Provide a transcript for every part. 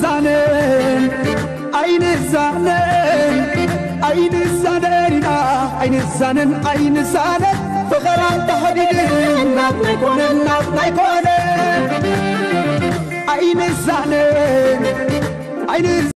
ዛነን ኣይንዛነን ኣይንዛነን ኢና ኣይንዛነን ኣይንዛነን ፍቕራ ተኸዲድን ናብ ናይ ኮነን ናብ ናይ ኮነን ኣይንዛነን ኣይንዛነን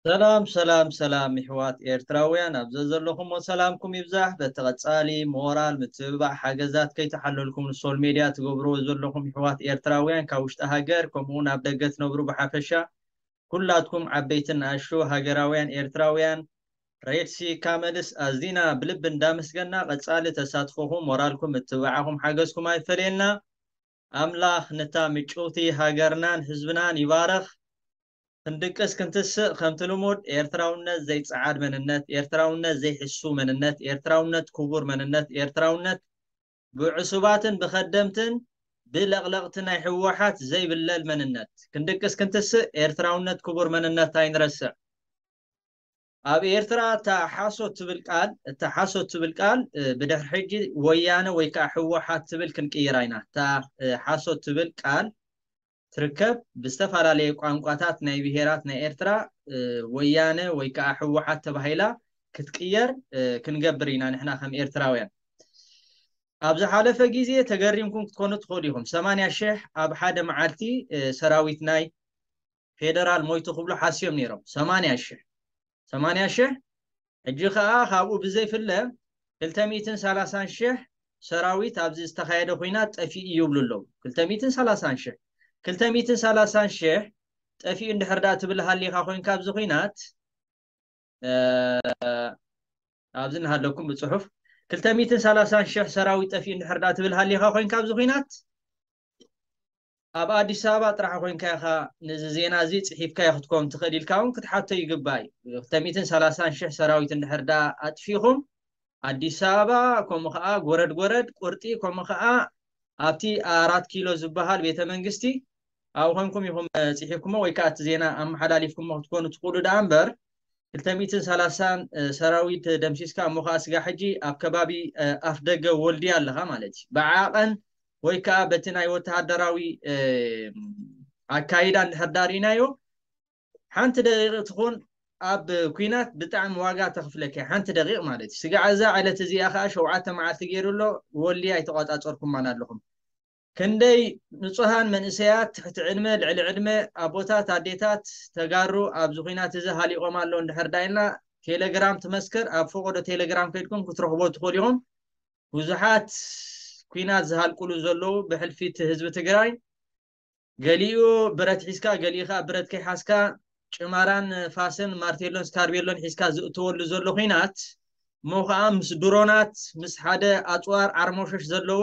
ሰላም ሰላም ሰላም ይሕዋት ኤርትራውያን ኣብ ዘዘለኹሞ ሰላምኩም ይብዛሕ። በተቐጻሊ ሞራል ምትብባዕ ሓገዛት ከይተሓለልኩም ሶል ሜድያ ትገብርዎ ዘለኹም ይሕዋት ኤርትራውያን ካብ ውሽጢ ሃገር ከምኡ እውን ኣብ ደገ ትነብሩ ብሓፈሻ ኩላትኩም ዓበይትን ንኣሽቱ ሃገራውያን ኤርትራውያን ሬድሲ ካመልስ ኣዝና ብልቢ እንዳመስገና ቀጻሊ ተሳትፎኹም ሞራልኩም ምትብባዓኹም ሓገዝኩም ኣይፈለየና። ኣምላኽ ነታ ምጭውቲ ሃገርናን ህዝብናን ይባርኽ። ክንድቅስ ክንትስእ ከምቲ ልሙድ ኤርትራውነት ዘይጸዓድ መንነት፣ ኤርትራውነት ዘይሕሱ መንነት፣ ኤርትራውነት ክቡር መንነት፣ ኤርትራውነት ብዕሱባትን ብኸደምትን ብለቕለቕቲ ናይ ህወሓት ዘይብለል መንነት። ክንድቅስ ክንትስእ ኤርትራውነት ክቡር መንነት ኣይንረስዕ። ኣብ ኤርትራ እታ ሓሶት ትብል ቃል እታ ሓሶት ትብል ቃል ብድሕሪ ሕጂ ወያነ ወይ ከዓ ህወሓት ትብል ክንቅይራ ኢና። እታ ሓሶት ትብል ቃል ትርከብ ብዝተፈላለየ ቋንቋታት ናይ ብሄራት ናይ ኤርትራ ወያነ ወይ ከዓ ህወሓት ተባሂላ ክትቅየር ክንገብር ኢና ንሕና ከም ኤርትራውያን። ኣብ ዝሓለፈ ግዜ ተገሪምኩም ክትኮኑ ትኽእሉ ኢኹም። ሰማንያ ሽሕ ኣብ ሓደ መዓልቲ ሰራዊት ናይ ፌደራል ሞይቱ ክብሉ ሓስዮም ነይሮም። ሰማንያ ሽሕ ሰማንያ ሽሕ ሕጂ ከዓ ካብኡ ብዘይፍለ ክልተ ሚእትን ሰላሳን ሽሕ ሰራዊት ኣብዚ ዝተኻየደ ኹናት ጠፊኡ ይብሉ ኣለዉ። ክልተ ሚእትን ሰላሳን ሽሕ ክልተ ሚእትን ሰላሳን ሽሕ ጠፊኡ እንድሕር ዳ ትብል ሃሊኻ ኮይንካ ኣብዚ ኹናት ኣብዚ እናሃለኩም ብፅሑፍ ክልተ ሚእትን ሰላሳን ሽሕ ሰራዊት ጠፊኡ እንድሕር ዳ ትብል ሃሊኻ ኮይንካ ኣብዚ ኹናት ኣብ ኣዲስ ኣበባ ጥራሕ ኮይንካ ኢኻ ነዚ ዜና እዚ ፅሒፍካዮ ክትከውን ትኽእል ኢልካ እውን ክትሓቶ ይግባእ እዩ። ክልተ ሚእትን ሰላሳን ሽሕ ሰራዊት እንድሕር ዳ ኣጥፊኹም ኣዲስ ኣበባ ከምኡ ከዓ ጎረድ ጎረድ ቁርጢ ከምኡ ከዓ ኣብቲ ኣራት ኪሎ ዝበሃል ቤተ መንግስቲ ኣብ ኮንኩም ኢኹም ፅሒፍኩሞ ወይ ከዓ እቲ ዜና ኣመሓላሊፍኩሞ ክትኮኑ ትኽእሉ ደኣ እምበር ክልተ ሚእትን ሰላሳን ሰራዊት ደምሲስካ እሞ ከዓ ስጋ ሕጂ ኣብ ከባቢ ኣፍ ደገ ወልድያ ኣለኻ ማለት እዩ። ብዓቐን ወይ ከዓ በቲ ናይ ወተሃደራዊ ኣካይዳ እንድሕር ዳሪናዮ ሓንቲ ደቂቕ ትኹን ኣብ ኩናት ብጣዕሚ ዋጋ ተኽፍለካ ሓንቲ ደቂቕ ማለት እዩ። ስጋዕ እዛ ዕለት እዚኣ ከዓ ሸውዓተ መዓልቲ ገይሩ ኣሎ ወልድያ ኣይተቋፃፀርኩማን ኣለኹም። ክንደይ ንጹሃን መንእሰያት ትሕቲ ዕድመ ልዕሊ ዕድመ ኣቦታት ኣዴታት ተጋሩ ኣብዚ ኹናት እዚ ሃሊቖም ኣለዉ እንድሕር ዳይና ቴሌግራም ትመስክር ኣብ ፈቆዶ ቴሌግራም ከይድኩም ክትረኽቦ ትኽእሉ ኢኹም። ብዙሓት ኩናት ዝሃልቁሉ ዘለዉ ብሕልፊ እቲ ህዝቢ ትግራይ ገሊኡ ብረት ሒዝካ ገሊኡ ከዓ ብረት ከይሓዝካ ጭማራን ፋስን ማርቴሎን ስካርቤሎን ሒዝካ ዝእተወሉ ዘሎ ኹናት እሞ ከዓ ምስ ድሮናት ምስ ሓደ ኣፅዋር ዓርሞሸሽ ዘለዎ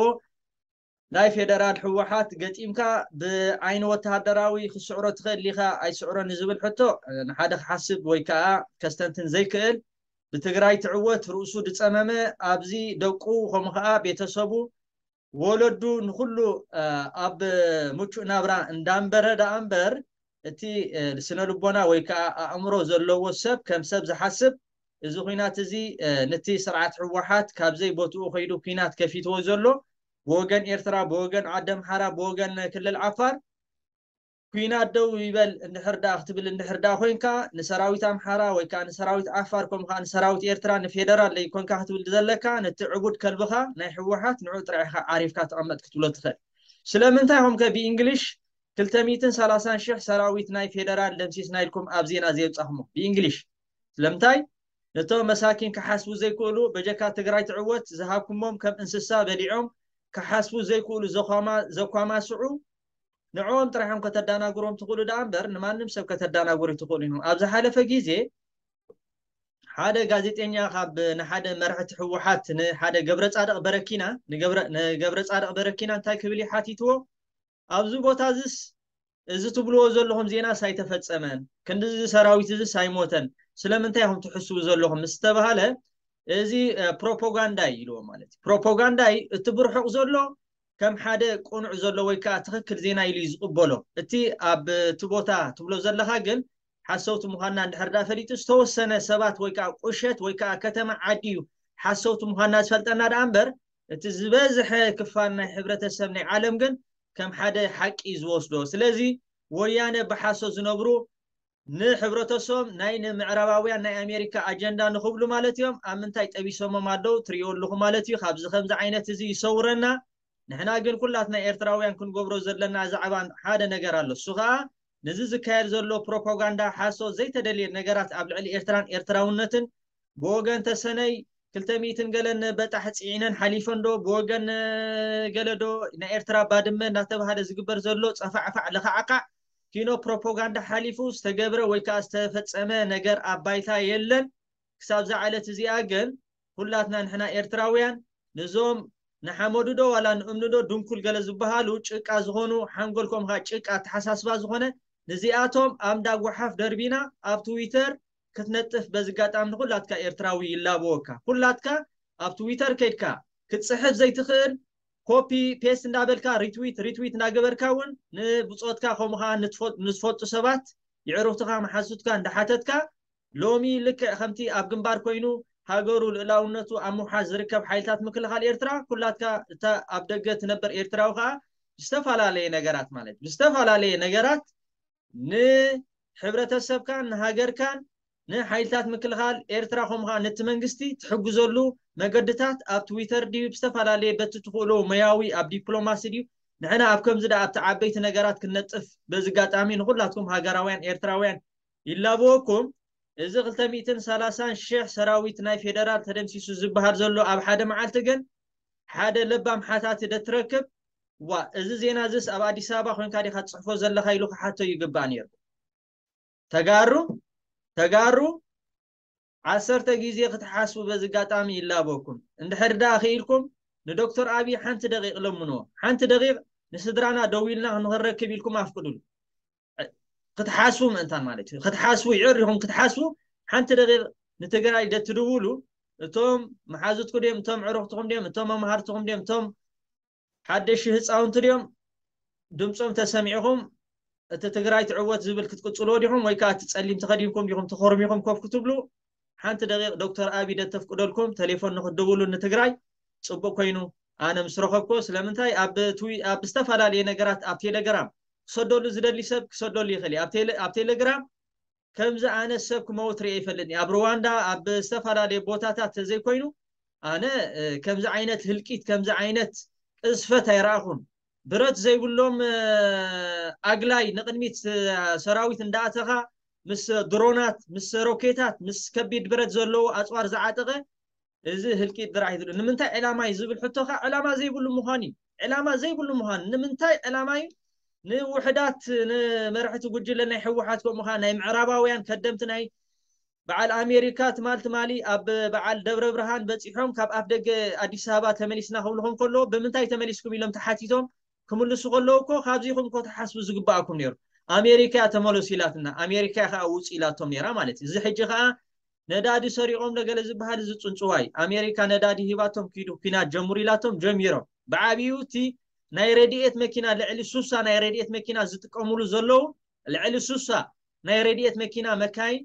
ናይ ፌደራል ህወሓት ገጢምካ ብዓይኒ ወተሃደራዊ ክስዕሮ ትኽእል ኢኻ ኣይስዕሮ ንዝብል ሕቶ ንሓደ ክሓስብ ወይ ከዓ ከስተንትን ዘይክእል ብትግራይ ትዕወት ርእሱ ዝፀመመ ኣብዚ ደቁ ከምኡ ከዓ ቤተሰቡ ወለዱ ንኩሉ ኣብ ምቹእ ናብራ እንዳንበረ ደኣ እምበር እቲ ስነ ልቦና ወይ ከዓ ኣእምሮ ዘለዎ ሰብ ከም ሰብ ዝሓስብ እዚ ኩናት እዚ ነቲ ስርዓት ህወሓት ካብ ዘይቦትኡ ከይዱ ኩናት ከፊትዎ ዘሎ ብወገን ኤርትራ ብወገን ዓዲ ኣምሓራ ብወገን ክልል ዓፋር ኩናት ደው ይበል እንድሕር ደኣ ክትብል እንድሕር ደኣ ኮይንካ ንሰራዊት ኣምሓራ ወይ ከዓ ንሰራዊት ዓፋር ከምኡ ከዓ ንሰራዊት ኤርትራ ንፌደራል ዘይኮንካ ክትብል ዘለካ ነቲ ዕቡድ ከልብኻ ናይ ህወሓት ንዑ ጥራሕ ኢኻ ዓሪፍካ ተቐመጥ ክትብሎ ትኽእል። ስለምንታይ ኢኹም ከ ብእንግሊሽ ክልተ ሚእትን ሰላሳን ሽሕ ሰራዊት ናይ ፌደራል ደምሲስና ኢልኩም ኣብ ዜና ዘየውፃኹሞ ብእንግሊሽ ስለምንታይ ነቶም መሳኪን ክሓስቡ ዘይክእሉ በጀካ ትግራይ ትዕወት ዝሃብኩሞም ከም እንስሳ በሊዖም ክሓስቡ ዘይክእሉ ዘኳማስዑ ንዕኦም ጥራሖም ከተዳናግሮም ትኽእሉ ደኣ እምበር ንማንም ሰብ ከተዳናግሩ ትኽእሉ ኢኹም። ኣብ ዝሓለፈ ግዜ ሓደ ጋዜጠኛ ካብ ንሓደ መራሕቲ ህወሓት ንሓደ ገብረ ፃድቕ በረኪና ንገብረ ፃድቕ በረኪና እንታይ ክብል እዩ ሓቲትዎ ኣብዚ ቦታ እዚስ እዚ ትብልዎ ዘለኹም ዜናስ ኣይተፈፀመን ክንድዚ ሰራዊት እዚስ ኣይሞተን ስለምንታይ ኢኹም ትሕስቡ ዘለኹም ምስ ተባሃለ እዚ ፕሮፓጋንዳ እዩ ኢልዎ ማለት እዩ። ፕሮፓጋንዳ እዩ እቲ ብርሑቕ ዘሎ ከም ሓደ ቅኑዕ ዘሎ ወይ ከዓ ትኽክል ዜና ኢሉ እዩ ዝቕበሎ። እቲ ኣብ እቲ ቦታ ትብሎ ዘለኻ ግን ሓሰውቲ ምዃንና እንድሕር ዳ ፈሊጡ ዝተወሰነ ሰባት ወይ ከዓ ቁሸት ወይ ከዓ ከተማ ዓዲ እዩ ሓሰውቲ ምዃንና ዝፈልጠና ደኣ እምበር እቲ ዝበዝሐ ክፋል ናይ ሕብረተሰብ ናይ ዓለም ግን ከም ሓደ ሓቂ እዩ ዝወስዶ። ስለዚ ወያነ ብሓሶት ዝነብሩ ንሕብረተሰቦም ናይ ንምዕራባውያን ናይ ኣሜሪካ ኣጀንዳ ንኽብሉ ማለት እዮም። ኣብ ምንታይ ጠቢሶሞም ኣለዉ ትሪእዎ ኣለኹ ማለት እዩ። ካብዚ ከምዚ ዓይነት እዚ ይሰውረና። ንሕና ግን ኩላትና ኤርትራውያን ክንገብሮ ዘለና ዛዕባ ሓደ ነገር ኣሎ። እሱ ኸኣ ነዚ ዝካየድ ዘሎ ፕሮፓጋንዳ ሓሶት ዘይተደልየ ነገራት ኣብ ልዕሊ ኤርትራን ኤርትራውነትን ብወገን ተሰነይ ክልተ ሚእትን ገለን በጣሕ ጽዒነን ሓሊፈን ዶ ብወገን ገለ ዶ ናይ ኤርትራ ባድመ እናተባህለ ዝግበር ዘሎ ጸፋዕፋዕ ለኻዕካዕ ኪኖ ፕሮፓጋንዳ ሓሊፉ ዝተገብረ ወይ ከዓ ዝተፈጸመ ነገር ኣብ ባይታ የለን። ክሳብ ዝዓለት እዚኣ ግን ኩላትና ንሕና ኤርትራውያን ንዞም ንሓመዱ ዶ ዋላ ንእምኒ ዶ ድንኩል ገለ ዝበሃሉ ጭቃ ዝኾኑ ሓንጎል ከምኻ ጭቃ ኣተሓሳስባ ዝኾነ ንዚኣቶም ኣምዳ ጓሓፍ ደርቢና ኣብ ትዊተር ክትነጥፍ በዚ ኣጋጣሚ ንኩላትካ ኤርትራዊ ይላበወካ። ኩላትካ ኣብ ትዊተር ከድካ ክትጽሕፍ ዘይትኽእል ኮፒ ፔስት እንዳበልካ ሪትዊት ሪትዊት እንዳገበርካ እውን ንብጾትካ ከምኡ ከዓ ንዝፈልጡ ሰባት ይዕሩኽትኻ መሓዙትካ እንዳሓተትካ ሎሚ ልክዕ ከምቲ ኣብ ግንባር ኮይኑ ሃገሩ ልእላውነቱ ኣብ ምውሓስ ዝርከብ ሓይልታት ምክልኻል ኤርትራ ኩላትካ እታ ኣብ ደገ ትነበር ኤርትራዊ ከዓ ብዝተፈላለየ ነገራት ማለት ብዝተፈላለየ ነገራት ንሕብረተሰብካን ንሃገርካን ንሓይልታት ምክልኻል ኤርትራ ከምኡ ከዓ ነቲ መንግስቲ ትሕግዘሉ መገድታት ኣብ ትዊተር ድዩ ብዝተፈላለየ በቲ ትኽእሎ መያዊ ኣብ ዲፕሎማሲ ድዩ ንሕና ኣብ ከምዚ ደኣ ኣብቲ ዓበይቲ ነገራት ክንነጥፍ በዚ ኣጋጣሚ ንኩላትኩም ሃገራውያን ኤርትራውያን ይላበወኩም። እዚ ክልተ ሚእትን ሰላሳን ሽሕ ሰራዊት ናይ ፌደራል ተደምሲሱ ዝበሃል ዘሎ ኣብ ሓደ መዓልቲ ግን ሓደ ለባም ሓታቲ ደትረክብ ዋ እዚ ዜና እዚስ ኣብ ኣዲስ ኣበባ ኮይንካ ዲኻ ትፅሕፎ ዘለኻ ኢሉ ክሓቶ ይግባእ ነይሩ። ተጋሩ ተጋሩ ዓሰርተ ግዜ ክትሓስቡ በዚ ኣጋጣሚ ይላበኩም። እንድሕር ደኣ ክኢልኩም ንዶክተር ኣብይ ሓንቲ ደቂቕ ለምንዎ። ሓንቲ ደቂቕ ንስድራና ደዊልና ንኽንረክብ ኢልኩም ኣፍቅዱሉ። ክትሓስቡ ምእንታን ማለት እዩ። ክትሓስቡ ይዕር ኢኹም ክትሓስቡ ሓንቲ ደቂቕ ንትግራይ ደትድውሉ እቶም መሓዙትኩ ድዮም እቶም ዕሩኽትኹም ድዮም እቶም መምሃርትኹም ድዮም እቶም ሓደሽ ህፃውንቲ ድዮም ድምፆም ተሰሚዕኹም እቲ ትግራይ ትዕወት ዝብል ክትቅፅልዎ ዲኹም ወይ ከዓ እቲ ፀሊም ተኸዲንኩም ዲኹም ተኾርሚኹም ኮፍ ክትብሉ ሓንቲ ደቂቕ ዶክተር ኣቢ ደተፍቅደልኩም ቴሌፎን ንክትድውሉ ንትግራይ ፅቡቅ ኮይኑ ኣነ ምስ ረኸብኩ ስለምንታይ ኣብ ትዊ ኣብ ዝተፈላለየ ነገራት ኣብ ቴሌግራም ክሰደሉ ዝደሊ ሰብ ክሰደሉ ይኽእል እዩ ኣብ ቴሌ- ኣብ ቴሌግራም ከምዚ ኣነ ሰብ ክመውት ርኤ ይፈልጥኒ ኣብ ሩዋንዳ ኣብ ዝተፈላለየ ቦታታት ተዘይኮይኑ ኣነ እ፣ ከምዚ ዓይነት ህልቂት ከምዚ ዓይነት ቅዝፈት ኣይረኣኹን ብረት ዘይብሎም እ፣ ኣግላይ ንቅድሚት እ፣ ሰራዊት እንዳኣተኻ ምስ ድሮናት ምስ ሮኬታት ምስ ከቢድ ብረት ዘለዎ ኣፅዋር ዝዓጠቐ እዚ ህልቂት ጥራሕ እዩ ዝብል ንምንታይ ዕላማ እዩ ዝብል ሕቶ ከዓ ዕላማ ዘይብሉ ምዃን እዩ ዕላማ ዘይብሉ ምዃን ንምንታይ ዕላማ እዩ ንውሕዳት ንመራሕቲ ጉጅለ ናይ ህወሓት ከምኡ ከዓ ናይ ምዕራባውያን ከደምቲ ናይ በዓል ኣሜሪካ ትማል ትማሊ ኣብ በዓል ደብረ ብርሃን በፂሖም ካብ ኣፍ ደገ ኣዲስ ኣበባ ተመሊስና ክብልኹም ከለዎ ብምንታይ ተመሊስኩም ኢሎም ተሓቲቶም ክምልሱ ከለዉ እኮ ካብዚኹም እኮ ተሓስቡ ዝግባኣኩም ነይሩ ኣሜሪካ ተመለሱ ኢላትና ኣሜሪካ ከዓ ውፁ ኢላቶም ነይራ ማለት እዩ እዚ ሕጂ ከዓ ነዳዲ ሰሪቖም ዶ ገለ ዝበሃል እዚ ጽንጽዋይ ኣሜሪካ ነዳዲ ሂባቶም ኪዱ ኲናት ጀምሩ ኢላቶም ጀሚሮም ብዓብዩ እቲ ናይ ረድኤት መኪና ልዕሊ ሱሳ ናይ ረድኤት መኪና ዝጥቀምሉ ዘለዉ ልዕሊ ሱሳ ናይ ረድኤት መኪና መካይን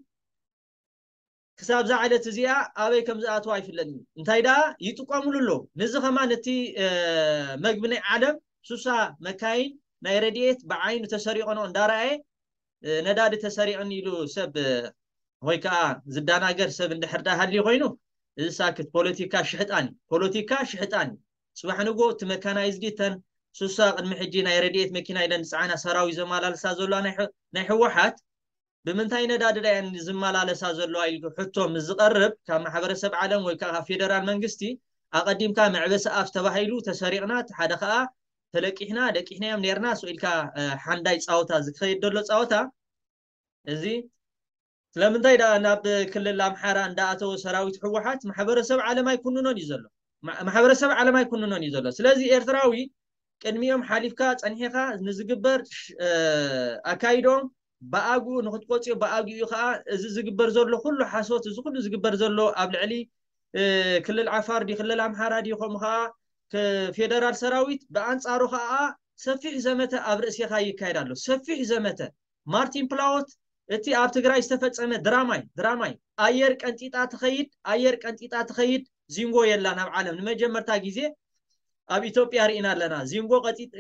ክሳብ ዝዓለት እዚኣ ኣበይ ከም ዝኣትዋ ኣይፍለጥን እንታይ ደኣ ይጥቀምሉ ኣለዉ ነዚ ከማን እቲ መግቢ ናይ ዓለም ሱሳ መካይን ናይ ረድኤት ብዓይኑ ተሰሪቐኖ እንዳረኣየ ነዳዲ ተሰሪቕኒ ኢሉ ሰብ ወይ ከዓ ዝዳናገር ሰብ እንድሕር ዳ ሃልዩ ኮይኑ እዚ ሳክት ፖለቲካ ሽሕጣን እዩ ፖለቲካ ሽሕጣን እዩ ፅባሕ ንጎ እቲ መካናይዝዲ እተን ሱሳ ቅድሚ ሕጂ ናይ ረድኤት መኪና ኢለን ዝፀዓና ሰራዊት ዘመላለሳ ዘለዋ ናይ ሕ- ናይ ህወሓት ብምንታይ ነዳዲ ዳ እየን ዝመላለሳ ዘለዋ ኢሉ ሕቶ ምስ ዝቐርብ ካብ ማሕበረሰብ ዓለም ወይ ከዓ ፌደራል መንግስቲ ኣቐዲምካ መዕበሲ ኣፍ ተባሂሉ ተሰሪቕና እቲ ሓደ ከዓ ተለቂሕና ደቂሕናዮም ነርና ስኢልካ ሓንዳይ ፃወታ ዝከየድ ዘሎ ፃወታ እዚ ስለምንታይ ደኣ ናብ ክልል ኣምሓራ እንዳኣተወ ሰራዊት ህወሓት ማሕበረሰብ ዓለም ኣይኩንኖን እዩ ዘሎ ማሕበረሰብ ዓለም ኣይኩንኖን እዩ ዘሎ ስለዚ ኤርትራዊ ቅድሚኦም ሓሊፍካ ጸኒሕኻ ንዝግበር ኣካይዶም ብኣግኡ ንክትቆፅዮ ብኣግኡ ከዓ እዚ ዝግበር ዘሎ ኩሉ ሓሶት እዚ ኩሉ ዝግበር ዘሎ ኣብ ልዕሊ ክልል ዓፋር ድዩ ክልል ኣምሓራ ድዩ ከምኡ ከዓ ፌደራል ሰራዊት ብኣንፃሩ ከዓ ሰፊሕ ዘመተ ኣብ ርእሲኻ ይካየድ ኣሎ ሰፊሕ ዘመተ ማርቲን ፕላወት እቲ ኣብ ትግራይ ዝተፈፀመ ድራማይ ድራማይ ኣየር ቀንጢጣ ትኸይድ ኣየር ቀንጢጣ ትኸይድ ዚንጎ የላን ኣብ ዓለም ንመጀመርታ ግዜ ኣብ ኢትዮጵያ ርኢና ኣለና። ዚንጎ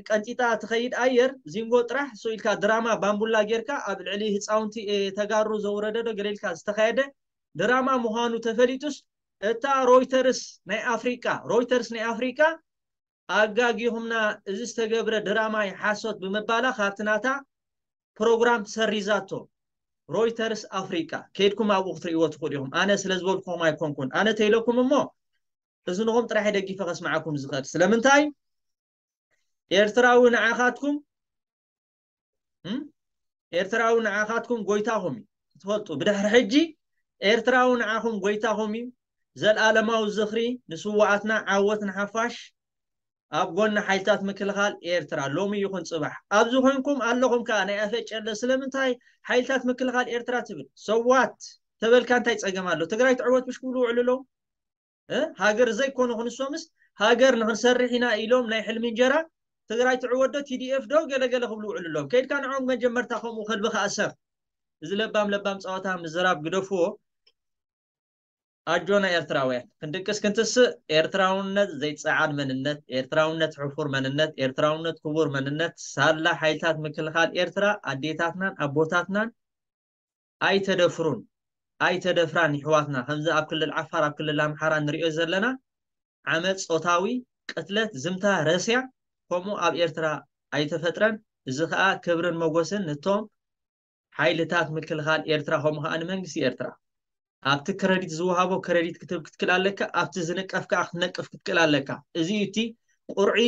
ቀንጢጣ ትኸይድ ኣየር፣ ዚንጎ ጥራሕ ሶ ኢልካ ድራማ ባምቡላ ጌርካ ኣብ ልዕሊ ህፃውንቲ ተጋሩ ዘውረደዶ ገለ ኢልካ ዝተኻየደ ድራማ ምዃኑ ተፈሊጡስ፣ እታ ሮይተርስ ናይ ኣፍሪቃ ሮይተርስ ናይ ኣፍሪቃ ኣጋጊኹምና፣ እዚ ዝተገብረ ድራማ ሓሶት ብምባላ ካብቲ ናታ ፕሮግራም ሰሪዛቶ። ሮይተርስ ኣፍሪቃ ከይድኩም ኣብኡ ክትርእይዎ ትኽእሉ ኢኹም። ኣነ ስለ ዝበልኩኹም ኣይኮንኩን። ኣነ ተይለኩም እሞ እዝንኹም ጥራሕ ደጊፈ ከስምዓኩም ዝኽእል። ስለምንታይ? ኤርትራዊ ንዓኻትኩም እም? ኤርትራዊ ንዓኻትኩም ጎይታኹም እዩ። ክትፈልጡ፣ ብድሕሪ ሕጂ ኤርትራዊ ንዓኹም ጎይታኹም እዩ። ዘልኣለማዊ ዝኽሪ ንስዋኣትና፣ ዓወት ንሓፋሽ። ኣብ ጎኒ ሓይልታት ምክልኻል ኤርትራ ሎሚ ይኹን ጽባሕ። ኣብዚ ኮንኩም ኣለኹም ከኣ ናይ ኣፈጨለ ስለምንታይ ሓይልታት ምክልኻል ኤርትራ ትብል? ሰዋት ተበልካ እንታይ ጸገም ኣሎ? ትግራይ ትዕወት ምሽ ክብሉ ውዕሉ ኣለዉ። ሃገር ዘይኮኑ ክንሶምስ ሃገር ንክንሰርሕ ኢና ኢሎም ናይ ሕልሚ እንጀራ ትግራይ ትዕወዶ ቲዲኤፍ ዶ ገለገለ ክብሉ ውዕሉ ኣለዎም። ከይድካ ንዖም መጀመርታ ከምኡ ከልቢ ከኣሰር። እዚ ለባም ለባም ፀዋታ ምዝራብ ግደፍዎ። ኣጆና ኤርትራውያን ክንድቅስ ክንትስእ። ኤርትራውነት ዘይጸዓድ መንነት፣ ኤርትራውነት ሕፉር መንነት፣ ኤርትራውነት ክቡር መንነት። ሳላ ሓይልታት ምክልኻል ኤርትራ ኣዴታትናን ኣቦታትናን ኣይተደፍሩን ኣይተደፍራን ይሕዋትና። ከምዚ ኣብ ክልል ዓፋር ኣብ ክልል ኣምሓራ ንሪኦ ዘለና ዓመፅ፣ ፆታዊ ቅትለት፣ ዝምታ፣ ረስያ ከምኡ ኣብ ኤርትራ ኣይተፈጥረን። እዚ ከዓ ክብርን መጎስን ንቶም ሓይልታት ምክልኻል ኤርትራ ከምኡ ከዓ ንመንግስቲ ኤርትራ። ኣብቲ ክረዲት ዝወሃቦ ክረዲት ክትህብ ክትክል ኣለካ፣ ኣብቲ ዝንቀፍ ከዓ ክትነቅፍ ክትክል ኣለካ። እዚ እዩ እቲ ቁርዒ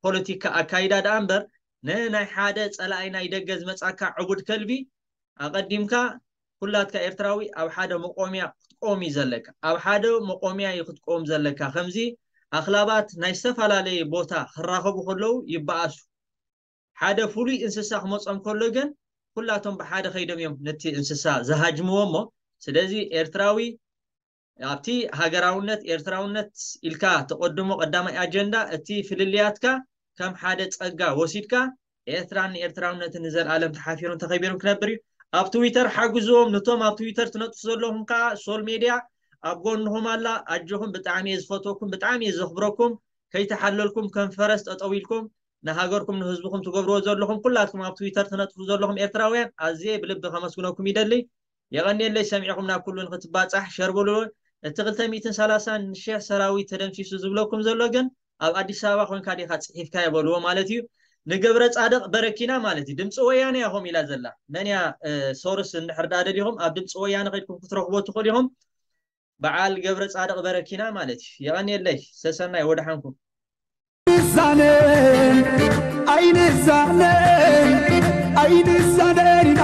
ፖለቲካ ኣካይዳ ደኣ እምበር ንናይ ሓደ ፀላኢ ናይ ደገ ዝመፃካ ዕቡድ ከልቢ ኣቐዲምካ ኩላትካ ኤርትራዊ ኣብ ሓደ መቆምያ ክትቆም እዩ ዘለካ። ኣብ ሓደ መቆምያ እዩ ክትቆም ዘለካ። ከምዚ ኣኽላባት ናይ ዝተፈላለየ ቦታ ክራኸቡ ከለዉ ይበኣሱ። ሓደ ፍሉይ እንስሳ ክመጾም ከሎ ግን ኩላቶም ብሓደ ከይዶም እዮም ነቲ እንስሳ ዝሃጅምዎ እሞ ስለዚ ኤርትራዊ ኣብቲ ሃገራውነት ኤርትራውነት ኢልካ ተቐድሞ ቀዳማይ ኣጀንዳ እቲ ፍልልያትካ ከም ሓደ ጸጋ ወሲድካ ኤርትራን ኤርትራውነትን ንዘለኣለም ተሓፊሩን ተኸቢሩን ክነብር እዩ። ኣብ ትዊተር ሓግዝዎም፣ ነቶም ኣብ ትዊተር ትነጥፉ ዘለኹም ከዓ ሶል ሜድያ ኣብ ጎንኹም ኣላ። ኣጆኹም፣ ብጣዕሚ እየ ዝፈትወኩም፣ ብጣዕሚ እየ ዘኽብረኩም። ከይተሓለልኩም ከም ፈረስ ጠጠው ኢልኩም ንሃገርኩም ንህዝብኹም ትገብርዎ ዘለኹም ኩላትኩም ኣብ ትዊተር ትነጥፉ ዘለኹም ኤርትራውያን ኣዝየ ብልቢ ከመስግነኩም ይደሊ። የቐንየለይ ሰሚዕኹም ናብ ኩሉ ንክትባጻሕ ሸር በልዎ። እቲ ክልተ ሚእትን ሰላሳን ሽሕ ሰራዊት ተደምሲሱ ዝብለኩም ዘሎ ግን ኣብ ኣዲስ ኣበባ ኮንካ ዲኻ ጽሒፍካዮ በልዎ ማለት እዩ። ንገብረ ጻድቕ በረኪና ማለት እዩ። ድምፂ ወያነ እያ ከምኡ ኢላ ዘላ። መን እያ ሶርስ እንድሕር ደኣ ደሊኹም ኣብ ድምፂ ወያነ ከድኩም ክትረኽቦ ትኽእሉ ኢኹም። በዓል ገብረ ጻድቕ በረኪና ማለት እዩ። የቐንየለይ ሰሰናይ ወደሓንኩም። ንዛነን ኣይንዛነን ኣይንዛነን ኢና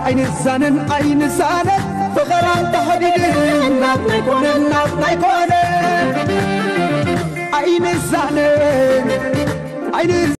ኣይንዛነን ኣይንዛነን ፍቕራ ተኸዲድን ናብ ናይ ኮነን ናብ ናይ ኮነን ኣይንዛነን ኣይንዛነን